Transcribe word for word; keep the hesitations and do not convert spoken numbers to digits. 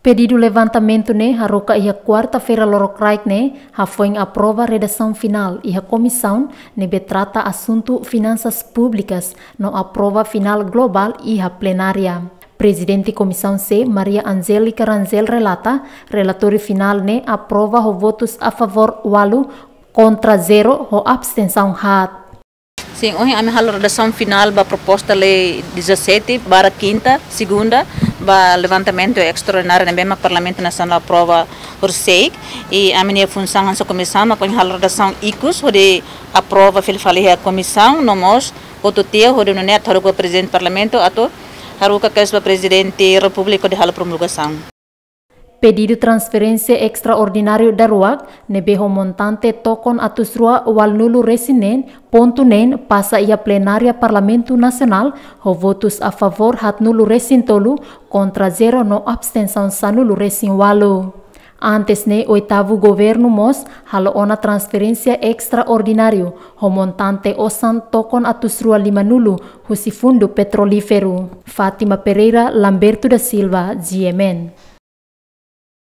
Pedidu levantamentu ne'e haruka iha kuarta-feira lorokraik ne'e hafoin aprova redasaun finál iha komisaun ne'ebé trata asuntu finansas públikas no aprova finál globál iha plenária. Prezidente Komisaun C, Maria Angélica Rangel relata, relatóriu finál ne'e aprova ho votus a favór ualu, kontra zero, ho abstensaun haat. Sin, ohin ami halo redasaun finál ba proposta lei dezassete barra kinta, segunda, ba levantamentu estraordináriu ne'ebé mak Parlamentu Nasionál aprova horisehik, i ami-nia funsaun hanesan komisaun mak ohin halo redasaun ikus hodi aprova fila fali iha komisaun, no mós hotu tiha hodi nune'e atu haruka ba Prezidente Parlamentu atu haruka kedas ba Prezidente Repúblika hodi halo promulgasaun. Pedidu transferénsia estraordináriu daruak ne'ebé ho montante tokon atus rua ualunulu resin neen pontu neen pasa iha plenária Parlamentu Nasionál ho votus a favór haatnulu resin tolu, kontra zero no abstensaun sanulu resin ualu. Antes ne'e oitavu governu mós halo ona transferénsia estraordináriu ho montante osan tokon atus rua limanulu husi Fundu Petrolíferu. Fátima Pereira, Lamberto da Silva, G M N.